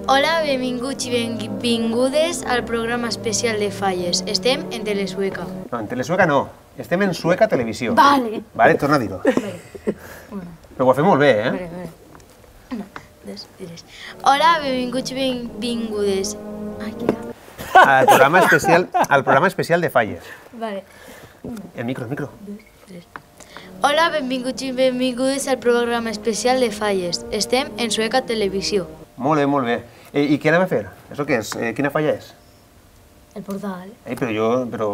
Hola, benvinguts i benvingudes al programa especial de Falles. Estem en Telesueca. No, en Telesueca no. Estem en Sueca Televisió. Vale. Vale, torna a dir-ho. Però ho ha fet molt bé, eh? Vale. Una, dos, tres. Hola, benvinguts i benvingudes. Ai, què era? Al programa especial de Falles. Vale. El micro. Dos, tres. Hola, benvinguts i benvingudes al programa especial de Falles. Estem en Sueca Televisió. Molt bé, molt bé. I què anem a fer? Això què és? Quina falla és? El portal. Però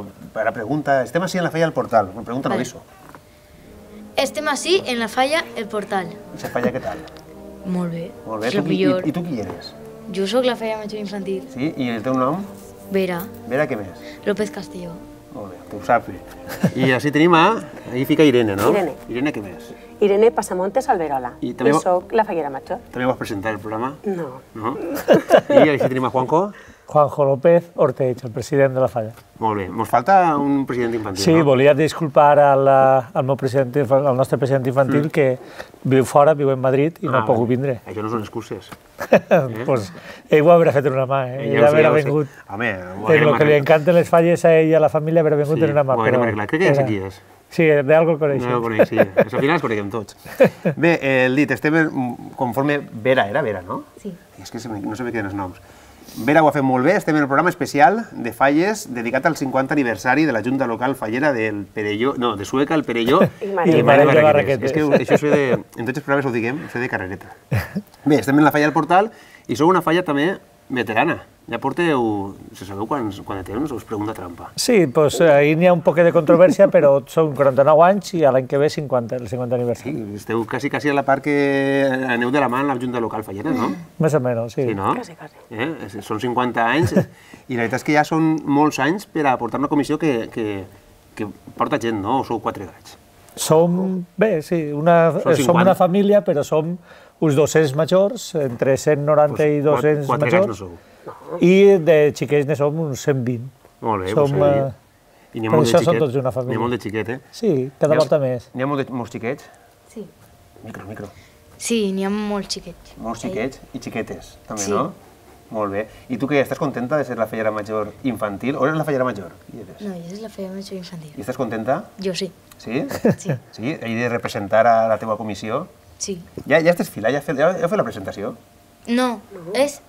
ara pregunta... Estem així en la falla del portal. Pregunta no això. Estem així en la falla El Portal. I la falla què tal? Molt bé. Molt bé. És la millor. I tu qui eres? Jo sóc la falla major infantil. Sí? I el teu nom? Vera. Vera què més? López Castelló. Molt bé, tu ho saps bé. I així tenim ahí fica Irene, no? Irene. Irene què més? Irene Passamontes Alberola. I I soc la fallera major. També vas presentar el programa? No. No? I així tenim a Juanjo? Juanjo López Orteig, el president de la falla. Molt bé. Ens falta un president infantil, sí, no? Sí, volia disculpar al nostre president infantil que viu fora, viu en Madrid i no ha pogut vindre. Això no són excuses. Pues ell ho haurà fet en una mà, ell haurà vingut. Home, en el que li encanten les falles a ell i a la família haurà vingut en una mà. Crec que ja sé qui és. Sí, d'algo el coneixem. No el coneix, sí. Al final els coneixem tots. Bé, el dit, estem conforme... Vera, era Vera, no? Sí. És que no sé bé quins noms. Vera ho ha fet molt bé, estem en el programa especial de Falles dedicat al 50 aniversari de la Junta Local Fallera del Perelló, no, de Sueca, el Perelló i el Marell de Barraquetes. És que això és en tots els programes ho diguem, és de carrereta. Bé, estem en la falla del Portal i sou una falla també veterana. Ja porteu, se sabeu quan de temps, us pregunta trampa. Sí, doncs ahir n'hi ha un poc de controvèrsia, però són 49 anys i l'any que ve el 50 aniversari. Sí, esteu quasi a la part que aneu de la mà en la Junta Local Fallera, no? Més o menys, sí. Sí, no? Quasi. Són 50 anys i la veritat és que ja són molts anys per a portar una comissió que porta gent, no? O sou 4 gats? Som, bé, sí, som una família, però som uns 200 majors, entre 190 i 200 majors. 4 gats no sou. I de xiquets ne som uns 120. Molt bé, per això som tots d'una família. N'hi ha molt de xiquet, eh? Sí, cada volta més. N'hi ha molts xiquets? Sí. Micro. Sí, n'hi ha molts xiquets. Molts xiquets i xiquetes, també, no? Molt bé. I tu què, estàs contenta de ser la fallera major infantil? O eres la fallera major? No, jo soc la fallera major infantil. I estàs contenta? Jo sí. Sí? Sí. Sí? He de representar a la teva comissió? Sí. Ja estàs fila? Ja heu fet la presentació? No, és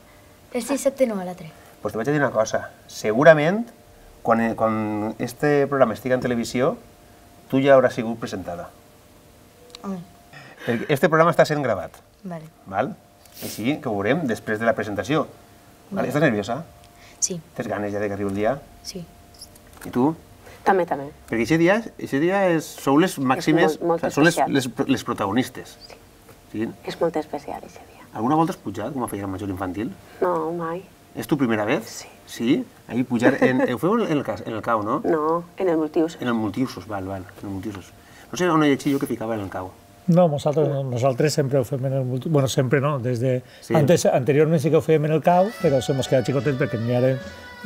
el dissabte no, a la 3. Doncs te vaig a dir una cosa. Segurament, quan este programa estigui en televisió, tu ja hauràs sigut presentada. Home. Este programa està sent gravat. Vale. Val? Així que ho veurem després de la presentació. Vale. Estàs nerviosa? Sí. Tens ganes ja que arribi el dia? Sí. I tu? També. Perquè aquest dia sou les màximes, són les protagonistes. Sí. És molt especial, aquest dia. Alguna volta has pujat com a fallera major infantil? No, mai. És tu primera vez? Sí. Sí? Ahir pujar... Ho feu en el cau, no? No, en el multiusos. En el multiusos, val, en el multiusos. No sé on he llegit jo que ficava en el cau. No, nosaltres sempre ho fem en el multiusos. Bueno, sempre no, anteriorment sí que ho fèiem en el cau, però se mos quedat xicotets perquè n'hi ha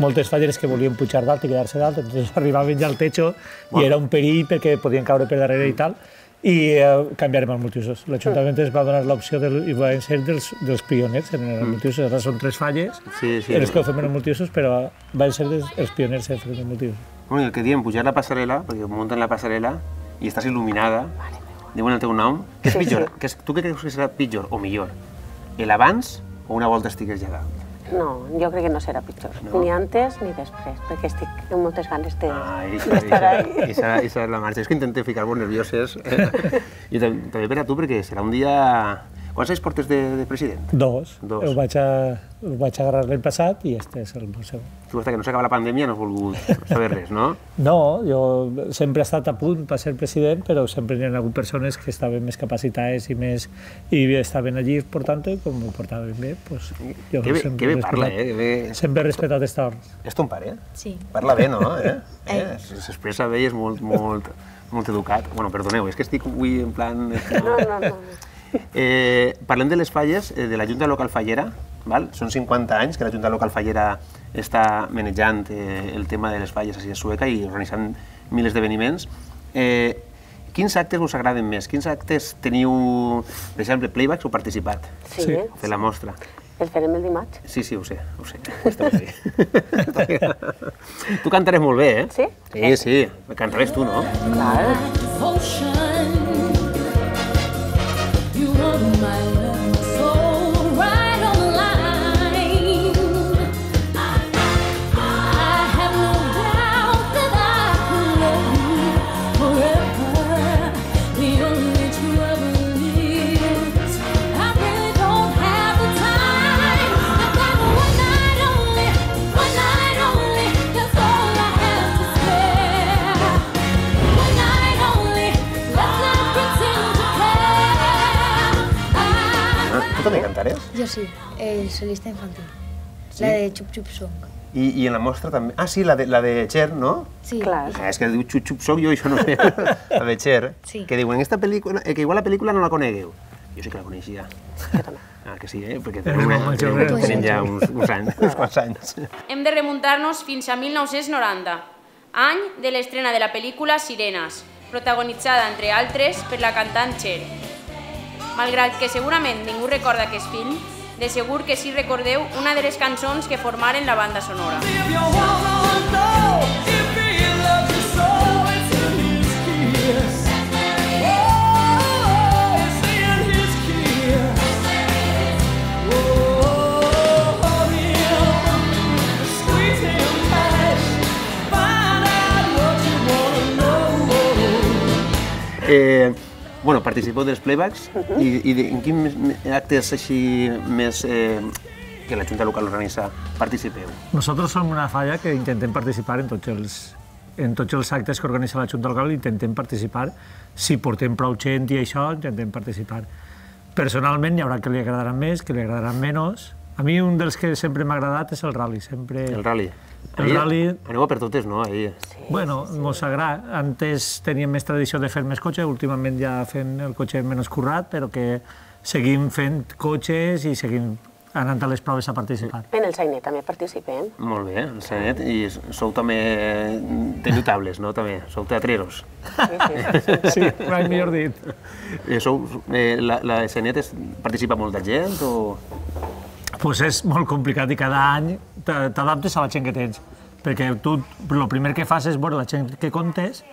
moltes falleres que volien pujar dalt i quedar-se dalt, entonces arribaven ja al techo i era un perill perquè podien caure per darrere i tal, i canviarem al multiusos. L'Ajuntament ens va donar l'opció i van ser dels pioners en el multiusos. Ara són 3 falles en les que ho fem en el multiusos, però van ser els pioners en fer el multiusos. Bueno, i el que diem, pujar la passarel·la, perquè munten la passarel·la i estàs il·luminada, diuen el teu nom, què és pitjor? Tu què creus que serà pitjor o millor? L'abans o una volta estigues ja dalt? No, jo crec que no serà pitjor, ni antes ni després, perquè estic amb moltes ganes d'estar ahí. I serà la marxa. És que intentem ficar-vos nervioses. I també per a tu, perquè serà un dia... Quants anys portes de president? 2. Ho vaig agarrar l'any passat i este és el meu segon. Tu, fins que no s'acaba la pandèmia, no has volgut saber res, no? No, jo sempre he estat a punt per ser president, però sempre hi ha hagut persones que estaven més capacitades i estaven allí portant-ho, i com ho portaven bé, doncs jo que bé parla, sempre he respectat esta ordre. És ton pare? Sí. Parla bé, no? S'expressa bé i és molt educat. Bueno, perdoneu, és que estic avui en plan... No. Parlem de les falles de la Junta Local Fallera. Són 50 anys que la Junta Local Fallera està manejant el tema de les falles a Sueca i organitzant mil esdeveniments. Quins actes us agraden més? Quins actes teniu, per exemple, playbacks o participat? Sí. Fer la mostra. El farem el dimarts. Sí, ho sé. Està bé. Tu cantaràs molt bé, eh? Sí? Sí. Cantaràs tu, no? Clar. Tu també cantaràs? Jo sí, el solista infantil. La de Chup Chup Song. I en la mostra també... Ah, sí, la de Cher, no? Sí. Clar. És que diu Chup Chup Song, jo això no sé. La de Cher, que diuen, esta pel·lícula, que igual la pel·lícula no la conegueu. Jo sí que la coneixia. Jo també. Ah, que sí, perquè tenim ja uns anys, uns quants anys. Hem de remuntar-nos fins a 1990, any de l'estrena de la pel·lícula Sirenes, protagonitzada, entre altres, per la cantant Cher. Malgrat que segurament ningú recorda aquest film, de segur que sí recordeu una de les cançons que formaren la banda sonora. Bueno, participeu dels playbacks i en quins actes així més que la Junta Local organitza participeu? Nosotros som una falla que intentem participar en tots els actes que organitza la Junta Local, intentem participar. Si portem prou gent i això, intentem participar. Personalment hi haurà que li agradaran més, que li agradaran menys. A mi un dels que sempre m'ha agradat és el rally. El rally? El rally... Aneu a per totes, no? Bueno, mos agrada. Antes teníem més tradició de fer més cotxe, últimament ja fem el cotxe menys currat, però que seguim fent cotxes i seguim anant a les proves a participar. En el Sainet també participem. Molt bé, el Sainet. I sou també... teniu tables, no? També. Sou teatreros. Sí, mai millor dit. La Sainet participa molta gent o...? Pues és molt complicat i cada any t'adaptes a la gent que tens, perquè tu el primer que fas és veure la gent que comptes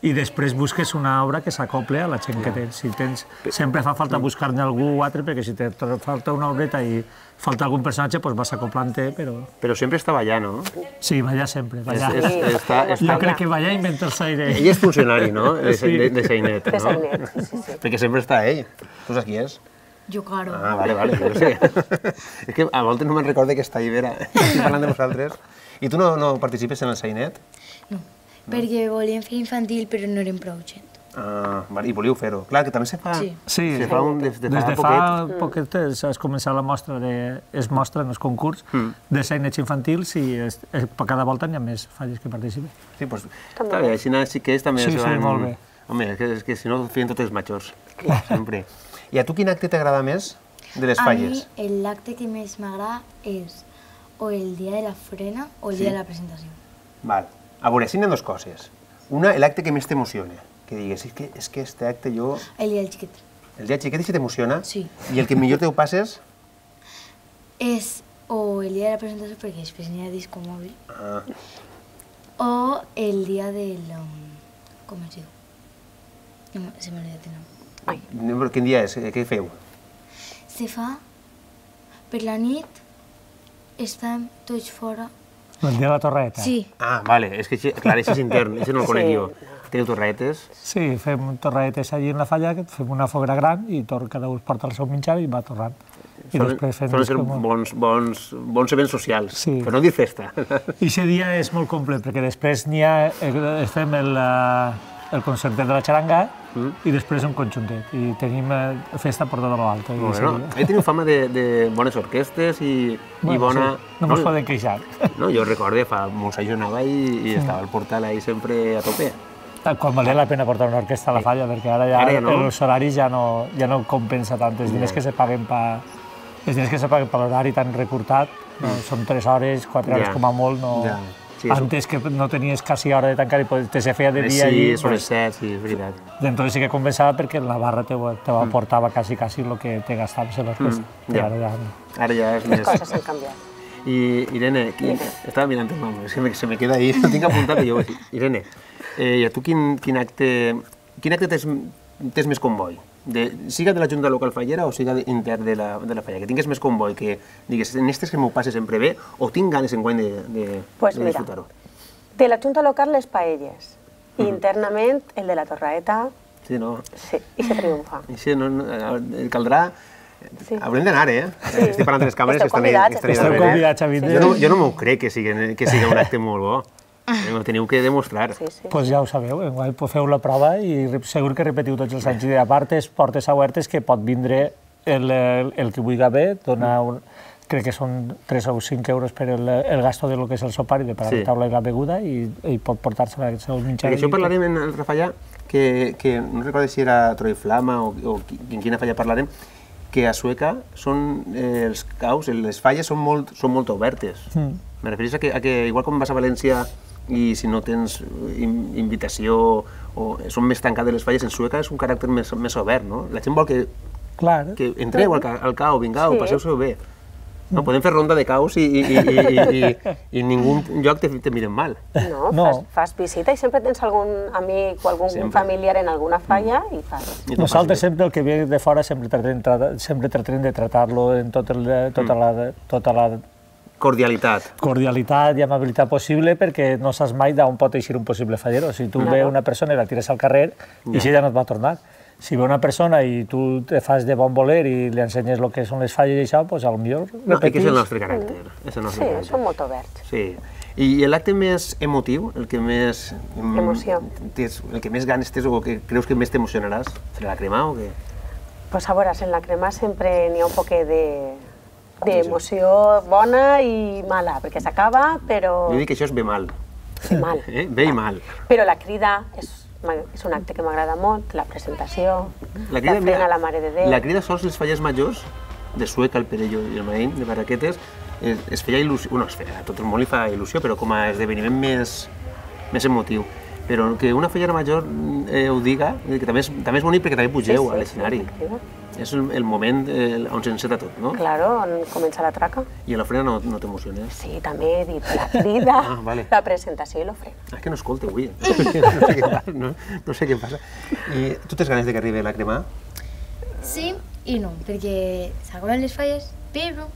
i després busques una obra que s'acople a la gent que tens. Sempre fa falta buscar-ne algú altre, perquè si te falta una obreta i falta algun personatge, doncs vas acoplant-te, però... Però sempre està ballant, no? Sí, ballar sempre, ballar. Jo crec que ballar inventa el Saire. Ell és funcionari, no? De Sainet, no? De Sainet, sí. Perquè sempre està ell. Tu saps qui és? Jo, claro. Ah, vale, jo sé. És que a voltes no me'n recordo que està Ibera, estic parlant de vosaltres. I tu no participes en el Sainet? No, perquè volíem fer infantil, però no érem prou gent. Ah, i volíeu fer-ho. Clar, que també se fa... Sí, des de fa poquet has començat la mostra, es mostra en els concurs de Sainets infantils i cada volta n'hi ha més falles que participen. Sí, doncs està bé, així que ells també se van... Sí, molt bé. Home, és que si no feien tots els majors, sempre. I a tu quin acte t'agrada més de les falles? A mi l'acte que més m'agrada és o el dia de la frena o el dia de la presentació. Val. A veure, si n'hi ha dues coses. Una, l'acte que més t'emociona. Que digues, és que este acte jo... El dia del xiquet. El dia del xiquet si t'emociona? Sí. I el que millor teu passes? És o el dia de la presentació, perquè després n'hi ha disco mòbil, o el dia del... com es diu? No, se m'ha oblidat el nom. Quin dia és? Què feu? Se fa per la nit, estem tots fora. El dia de la torreta? Sí. Ah, vale, és que clar, això és intern, això no el conec jo. Teniu torretes? Sí, fem torretes allí en la falla, fem una foguera gran i cada un porta el seu menjar i va torrant. Solen ser bons events socials, però no dir festa. I aquest dia és molt complet, perquè després fem el concertet de la xaranga i després un conjuntet. I tenim festa per tot l'altre. Ahí teniu fama de bones orquestes i bona... No ens poden queixar. Jo recordo, fa molts anys jo anava i estava al portal ahí sempre a tope. Quan valia la pena portar una orquestra a la falla, perquè ara ja els horaris ja no compensa tant. Els diners que se paguen per l'horari tan recurtat, són 3 hores, 4 hores com a molt, no... Antes que no tenies quasi hora de tancar i te se feia de dia allí. Sí, són les 7, sí, és veritat. Entonces sí que compensava perquè la barra te aportava quasi el que te gastaves en l'orquestra. Ara ja és més... Les coses han canviat. I Irene, estava mirant el nom, se me queda ahí, no tinc apuntat i jo ho dic. Irene, i a tu quin acte tens més convoi? Siga de la Junta Local Fallera o siga intern de la Fallera, que tingués més convoi, que digues, en aquestes que m'ho passe sempre bé, o tinc ganes enguany de disfrutar-ho? De la Junta Local les paelles, i internament el de la Torraeta, sí, no? Sí, i se triomfa. Caldrà... Haurem d'anar, Estic parlant de les càmeres que estan Esteu convidats a vindre. Jo no m'ho crec que siga un acte molt bo. Ho teniu que demostrar. Doncs ja ho sabeu, feu la prova i segur que repetiu tots els anys. I a part, portes obertes que pot vindre el que vulgui bé, crec que són 3 o 5 euros per el gasto de lo que és el sopar i de pagar la taula i la beguda i pot portar-se el seu menjar. Això parlarem en l'altra falla, que no recordo si era Troi Flama o en quina falla parlarem, que a Sueca els caus, les falles són molt obertes. Me refereixo a que, igual com vas a València i si no tens invitació o són més tancades les falles, en Sueca és un caràcter més obert, no? La gent vol que entreu al cau, vingau, passeu-s'ho bé. Podem fer ronda de caus i en ningú lloc te miren mal. No, fas visita i sempre tens algun amic o algun familiar en alguna falla i fas. Nosaltres sempre el que ve de fora sempre tratem de tratar-lo en tota la cordialitat i amabilitat possible, perquè no saps mai d'on pot eixir un possible fallero. Si tu ve una persona i la tires al carrer, i ja no et va tornar. Si ve una persona i tu te fas de bon voler i li ensenyes el que són les falles i això, doncs potser repetís. És el nostre caràcter. Sí, són molt oberts. Sí. I l'acte més emotiu, el que més... Emoció. El que més ganes tens o que creus que més t'emocionaràs, serà la crema o què? Pues a veure, en la crema sempre n'hi ha un poquet d'emoció bona i mala, perquè s'acaba, però... Jo dic que això és bé mal. Sí, mal. Bé i mal. Però la crida és un acte que m'agrada molt, la presentació, la feina a la Mare de Déu... La crida sols les falles majors, de Sueca, el Perelló i el Maín, de Barraquetes, es feia il·lusió, a tot el món li fa il·lusió, però com a esdeveniment més emotiu. Però que una fallera major ho diga, que també és bonic perquè també pugeu a l'escenari. És el moment on s'enceta tot, no? Claro, on comença la traca. I a l'ofrena no t'emociones? Sí, també he dit la crida, la presentació i l'ofrena. És que no escolta avui, no sé què passa. I tu tens ganes de que arribi la crema? Sí i no, perquè s'acaben les falles, però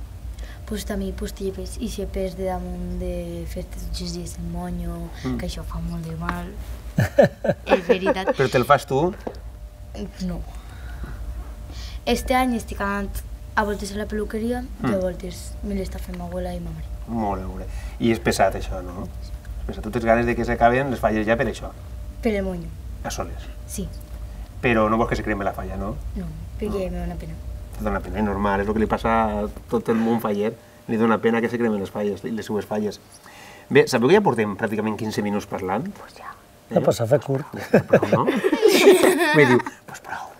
també postipes i xepes de damunt de fer-te tots els dies el monyo, que això fa molt de mal. És veritat. Però te'l fas tu? No. Este any estic anant a voltes a la peluqueria i a voltes me l'està fent ma abuela i ma mare. Molt bé. I és pesat això, no? Tu tens ganes de que s'acaben les falles ja per això? Per el monyo. A soles? Sí. Però no vols que se cremi la falla, no? No, perquè me dóna pena. Te dóna pena, és normal, és el que li passa a tot el món faller. Li dóna pena que se cremen les falles, les seues falles. Bé, sabeu que ja portem pràcticament 15 minuts parlant? Doncs ja. No, s'ha fet curt. Prou, no? Me diu, doncs prou.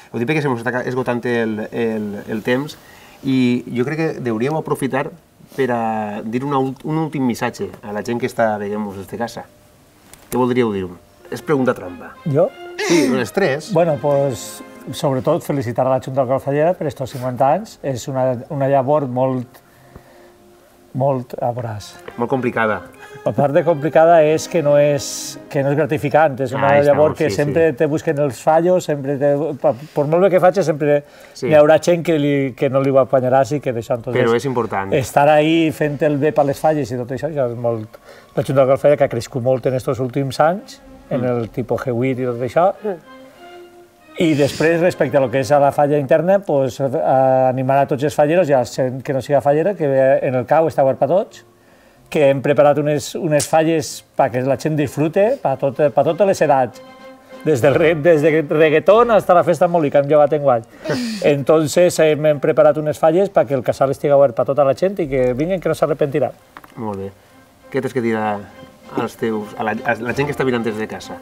Ho dic perquè se m'està esgotant el temps i jo crec que hauríeu aprofitar per a dir un últim missatge a la gent que està veient-nos des de casa. Què voldríeu dir? És pregunta trampa. Jo? Sí, les tres. Bueno, doncs, sobretot felicitar a la Junta Local Fallera per estos 50 anys. És una llavor molt Molt complicada. La part de complicada és que no és gratificant, és una llavor que sempre te busquen els fallos, per molt bé que facis, sempre hi haurà gent que no li ho apanyaràs i que d'això... Però és important. Estar ahí fent el bé per les falles i tot això, ja és molt... La Junta Local Fallera que ha crescut molt en aquests últims anys, en el tipus G8 i tot això, i després, respecte a lo que és a la falla interna, animar a tots els falleros i a la gent que no siga fallera, que en el cau està obert per tots, que hem preparat unes falles perquè la gent disfrute per totes les edats, des del reggaeton fins a la festa moli que hem llevat enguany. Entonces hem preparat unes falles perquè el casal estigui obert per tota la gent i que vinguin que no s'arrepentiran. Molt bé. Què tens que dir a la gent que està mirant des de casa?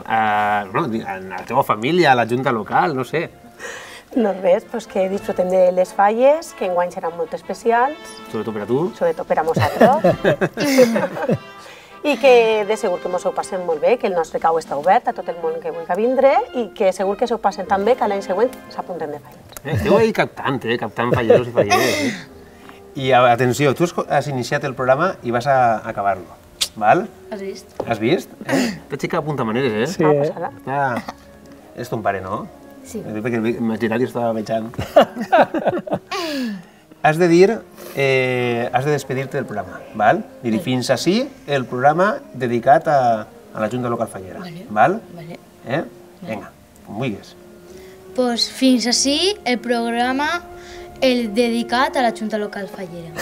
A la teva família, a la junta local, no sé. No res, pues que disfrutem de les falles, que enguany seran molt especials. Sobretot per a tu. Sobretot per a nosaltres. I que de segur que ens ho passem molt bé, que el nostre cau està obert a tot el món que vulgui vindre i que segur que s'ho passen tan bé que l'any següent s'apunten de fallers. Esteu ahí captant falleros i falleres. I atenció, tu has iniciat el programa i vas a acabar-lo, val? Has vist? Has vist? Aquesta xica apunta maneres, eh? Sí, És ton pare, no? Sí. Perquè l'imaginari estava vejant. Has de dir, has de despedir-te del programa, val? Dir fins ací el programa dedicat a la Junta Local Fallera, val? Vale. Vinga, com vulguis. Pues fins ací el programa dedicat a la Junta Local Fallera.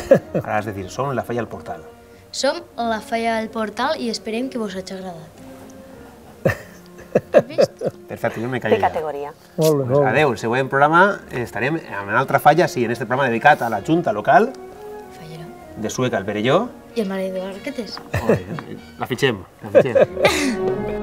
Ara has de dir, som la Falla al Portal. Som la Falla del Portal i esperem que vos hagi agradat. Has vist? Perfecte, jo me De callo ja. categoria. molt bé, molt bé. Adéu, el següent programa estarem en una altra falla, sí, en este programa dedicat a la Junta Local Fallera. de Sueca, el Perelló. I el mare d'Arquetes. La fitxem, la fitxem.